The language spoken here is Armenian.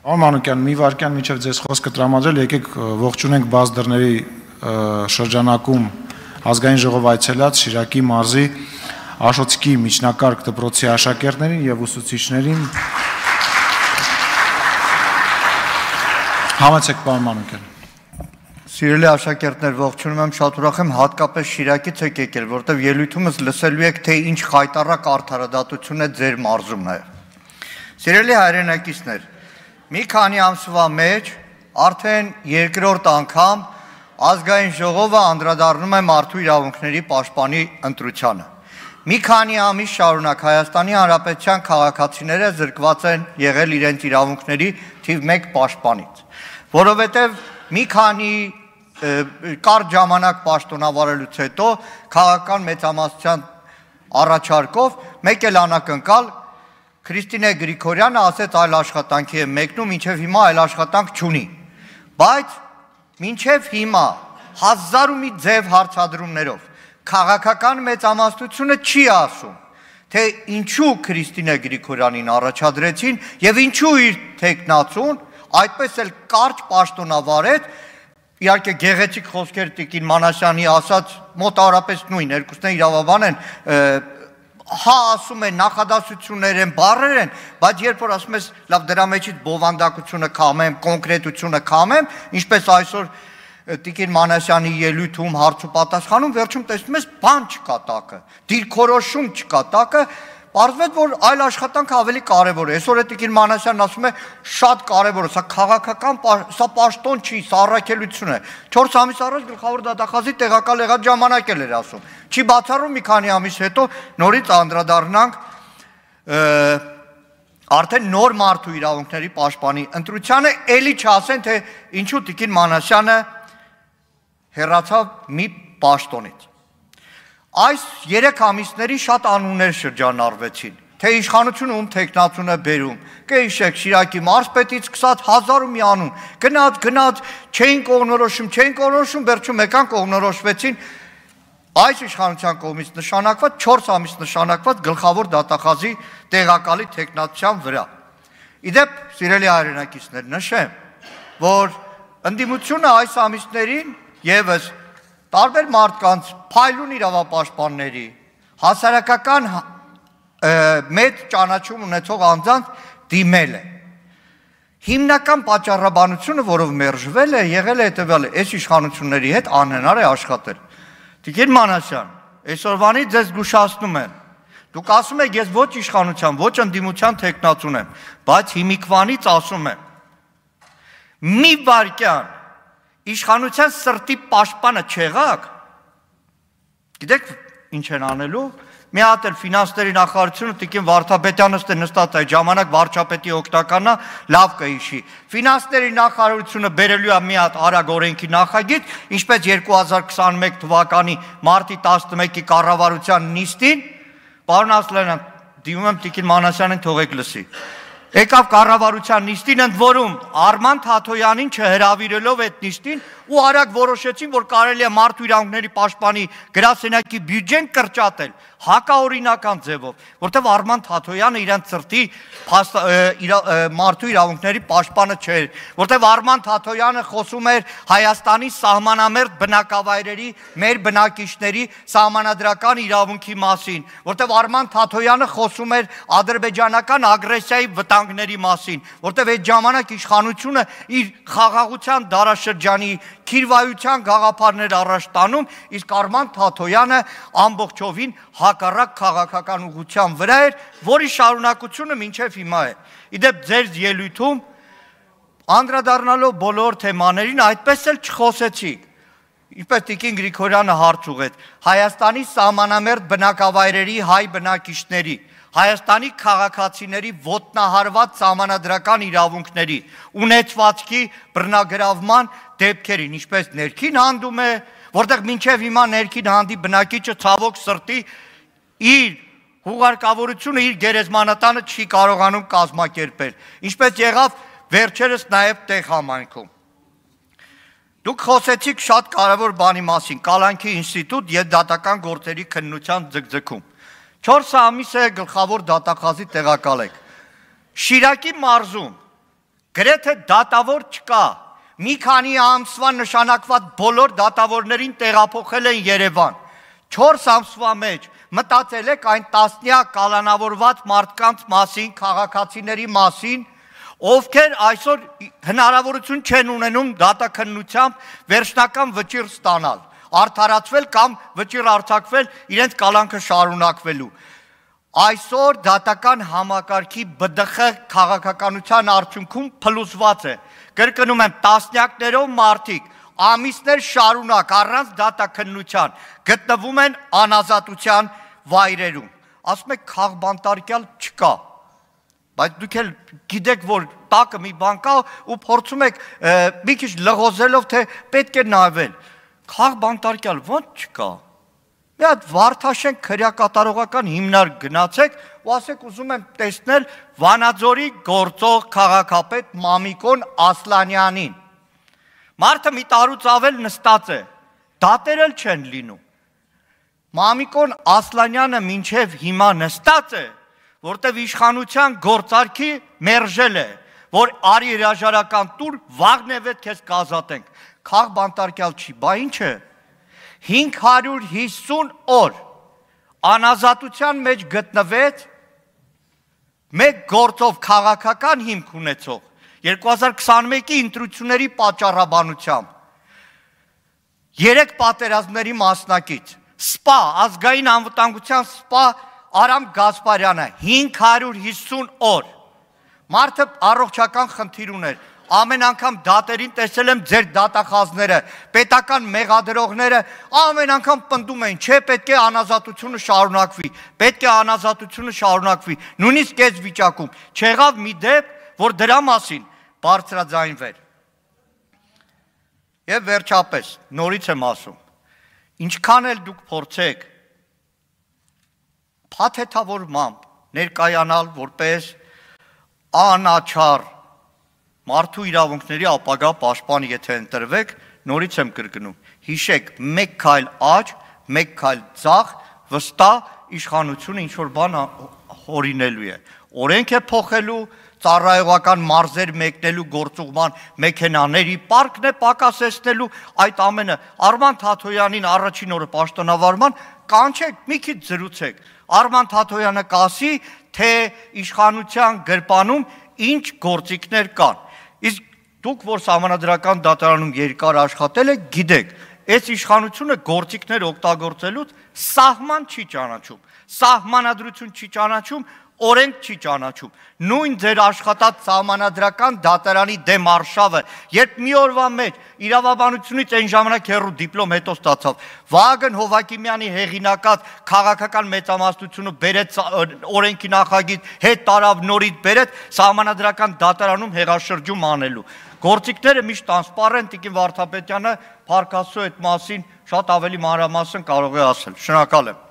Մանուկյան, մի վարքյան միջև ձեզ խոսքը տրամադրել, եկեք ողջունենք բաց դռների շրջանակում ազգային ժողով այցելած Շիրակի մարզի Աշոտսկի միջնակարգ դպրոցի աշակերտներին եւ ուսուցիչներին։ Համեցեք, պարոն Մանուկյան։ Սիրելի աշակերտներ, ողջունում եմ, շատ ուրախ եմ, հատկապես Շիրակից եք եկել, որտեղ ելույթումս լսելու եք, թե ինչ խայտառակ արդարադատություն է ձեր մարզում նաեւ։ Սիրելի հայրենակիցներ, մի քանի ամսվա մեջ արդեն երկրորդ անգամ ազգային ժողովը անդրադառնում է մարդու իրավունքների պաշտպանի ընտրությանը։ Մի քանի ամիս շարունակ Հայաստանի Հանրապետության քաղաքացիները զրկված են եղել իրենց իրավունքների թիվ 1 պաշտպանից, որովհետև մի քանի կարճ ժամանակ պաշտոնավարելուց հետո քաղաքական մեծամասնության առաջարկով մեկ էլ անակնկալ Քրիստինե Գրիգորյանը ասեց այլ աշխատանքի է մեկնում, մինչև հիմա այլ աշխատանք չունի, բայց մինչև հիմա հազար ու մի ձև հարցադրումներով քաղաքական մեծամասնությունը չի ասում, թե ինչու Քրիստինե Գրիգորյանին առաջադրեցին եւ ինչու իր թեկնածուն այդպես էլ կարճ պաշտոնավարեց, իհարկե գեղեցիկ խոսքեր Տիկին Մանասյանի ասած մոտավորապես նույն, երկուսն իրավաբան են, հա ասում են նախադասություններ են, բառեր են, բայց երբ որ ասում ես լավ դրա մեջից բովանդակությունը կամեմ, կոնկրետությունը կամեմ, ինչպես այսօր Տիկին Մանասյանի ելույթում հարց ու պատասխանում վերջում տեսնում ես բան չկա տակը, դիրքորոշում չկա տակը, պարզվեց որ այլ աշխատանքը ավելի կարևոր է։ Այսօր Տիկին Մանասյանն ասում է շատ կարևոր է, սա քաղաքական, սա պաշտոն չի, սա առաքելություն է։ 4 ամիս առաջ գլխավոր դատախազի տեղակալ եղած ժամանակ էլ էր ասում։ Չի բացառում մի քանի ամիս հետո նորից անդրադառնանք արդեն նոր մարդու իրավունքների պաշտպանի ընտրությանը, էլի չասեն թե ինչու Տիկին Մանասյանը հեռացավ մի պաշտոնից։ Այս 3 ամիսների շատ անուններ շրջանառվեցին, թե իշխանությունը ում թեկնածուն է բերում, կհիշեք Շիրակի մարզպետից սկսած հազար ու մի անուն, գնաց, չէին կողմնորոշում, վերջում եկան կողմնորոշվեցին այս իշխանության կողմից նշանակված 4 ամիս նշանակված գլխավոր դատախազի տեղակալի թեկնածության վրա։ Իդեպ, սիրելի հայրենակիցներ, նշեմ, որ ընդդիմությունը այս ամիսներին եւս տարբեր մարդկանց, փայլուն իրավապաշտպանների, հասարակական մեծ ճանաչում ունեցող անձանց դիմել է։ Հիմնական պատճառաբանությունը, որով մերժվել է, եղել է հետևյալը, այս իշխանությունների հետ անհնար է աշխատել։ Տիկին Մանասյան, այսօրվանից ձեզ զգուշացնում եմ, դուք ասում եք ես ոչ իշխանության, ոչ ընդդիմության թեկնածուն եմ, բայց հիմիկվանից ասում եմ, մի վայրկյան իշխանության սրտի պաշտպանը չեղաք, գիտեք ինչ են անելու, մի հատ էլ ֆինանսների նախարարությունը Տիկին Վարդապետյանը նստած այդ ժամանակ վարչապետի օգնականն լավ կհիշի, ֆինանսների նախարարությունը բերելու է մի հատ արագ օրենքի նախագիծ, ինչպես 2021 թվականի մարտի 11-ի կառավարության նիստին, պարոն Ասլանյան, դիմում եմ Տիկին Մանասյանին թողեք լսի, եկավ կառավարության նիստին, ընդ որում Արման Թաթոյանին չհրավիրելով այդ նիստին ու արագ որոշեցին, որ կարելի է մարդու իրավունքների պաշտպանի գրասենյակի բյուջեն կրճատել հակաօրինական ձևով, որտեղ Արման Թաթոյանը իրենց սրտի մարդու իրավունքների պաշտպանը չէր, որտեղ Արման Թաթոյանը խոսում էր Հայաստանի սահմանամերձ բնակավայրերի մեր բնակիչների սահմանադրական իրավունքի մասին, որտեղ Արման Թաթոյանը խոսում էր ադրբեջանական ագրեսիայի վտանգների մասին, որտեղ այդ ժամանակ իշխանությունը իր խաղաղության դարաշրջանի քիրվայության գաղափարներ առաջ տանում, իսկ Արման Թաթոյանը ամբողջովին հակառակ քաղաքական ուղղության վրա էր, որի շարունակությունը մինչև հիմա է։ Իդեպ ձեր ելույթում անդրադառնալով բոլոր թեմաներին այդպես էլ չխոսեցիք։ Ինչպես Տիկին Գրիգորյանը հարց ուղեց Հայաստանի սահմանամերձ բնակավայրերի հայ բնակիչների, Հայաստանի քաղաքացիների ոտնահարված սահմանադրական իրավունքների, ունեցվածքի բռնագրավման դեպքերին, ինչպես ներքին հանդում է, որտեղ մինչև հիմա ներքին հանդի բնակիչը ցավոք սրտի իր հուղարկավորությունը իր գերեզմանատանը չի կարողանում կազմակերպել, ինչպես եղավ վերջերս նաև տեղ համայնքում։ Դուք խոսեցիք շատ կարևոր բանի մասին, Կալանքի ինստիտուտ եւ դատական գործերի քննության ձգձգում։ 4 ամիս է գլխավոր դատախազի տեղակալ եք։ Շիրակի մարզում գրեթե դատավոր չկա։ Մի քանի ամսվա նշանակված բոլոր դատավորներին տեղափոխել են Երևան։ 4 ամսվա մեջ մտածել եք այն տասնյակ կալանավորված մարդկանց մասին, քաղաքացիների մասին, ովքեր այսօր հնարավորություն չեն ունենում դատաքննությամբ վերջնական վճիռ ստանալ, արդարացվել կամ վճիռ արձակվել իրենց կալանքը շարունակվելու։ Այսօր դատական համակարգի ԲԴԽ քաղաքականության արդյունքում փլուզված է։ Կրկնում եմ, տասնյակներով մարդիկ ամիսներ շարունակ առանց դատաքննության գտնվում են անազատության վայրերում։ Ասում եք քաղբանտարկյալ չկա, բայց դուք էլ գիտեք, որ տակը մի բան կա ու փորձում եք մի քիչ լղոզելով, թե պետք է նայվել։ Քաղբանտարկյալ ո՞նց չկա։ Մի հատ Վարդաշենք քրեակատարողական հիմնարկ գնացեք ու ասեք ուզում եմ տեսնել Վանաձորի գործող քաղաքապետ Մամիկոն Ասլանյանին։ Մարդը մի տարուց ավել նստած է, դատեր էլ չեն լինում։ Մամիկոն Ասլանյանը մինչև հիմա նստած է, որտև իշխանության գործարքի մերժել է, որ արի հրաժարական տուր, վաղնևետ քեզ կազատենք։ Քաղբանտարկյալ չի, բա ինչ է։ 550 օր անազատության մեջ գտնվեց մեկ գործով քաղաքական հիմք ունեցող 2021-ի ընտրությունների պատճառաբանությամբ 3 պատերազմների մասնակից սպա ազգային անվտանգության սպա Արամ Գասպարյանը 550 օր մարդը առողջական խնդիր ուներ ամեն անգամ դատերին տեսել եմ ձեր դատախազները, պետական մեղադրողները ամեն անգամ պնդում էին, չէ, պետք է անազատությունը շարունակվի, պետք է անազատությունը շարունակվի, նույնիսկ այս վիճակում չեղավ մի դեպք, որ դրա մասին բարձրաձայնվեր։ Եվ վերջապես, նորից եմ ասում, ինչքան էլ դուք փորձեք փաթեթավորմամբ ներկայանալ որպես անաչառ մարդու իրավունքների ապագա պաշտպան եթե ընտրվեք, նորից եմ կրկնում, հիշեք, մեկ քայլ աջ, մեկ քայլ ձախ, վստահ իշխանությունը ինչ-որ բան հորինելու է։ Օրենք է փոխելու, ծառայողական մարզեր մեկնելու գործուղման մեքենաների պարկն է պակասեցնելու, այդ ամենը Արման Թաթոյանին առաջին օրը պաշտոնավարման կանչեք, մի քիչ զրուցեք։ Արման Թաթոյանը կասի, թե իշխանության գրպանում ինչ գործիքներ կան։ Իսկ դուք, որ սահմանադրական դատարանում երկար աշխատել եք, գիտեք, այս իշխանությունը գործիքներ օգտագործելուց սահման չի ճանաչում, սահմանադրություն չի ճանաչում, օրենք չի ճանաչում։ Նույն ձեր աշխատած սահմանադրական դատարանի դեմ արշավը, երբ մի օրվա մեջ իրավաբանությունից այն ժամանակ հեռու դիպլոմ հետո ստացավ, Վահագն Հովակիմյանի հեղինակած քաղաքական մեծամասնությունը բերեց օրենքի նախագիծ, հետ տարավ նորից բերեց սահմանադրական դատարանում հեղաշրջում անելու։ Գործիքները միշտ տրանսպարենտ, Տիկին Վարդապետյանը Փարքասու այդ մասին շատ ավելի մանրամասն կարող է ասել։ Շնորհակալ եմ։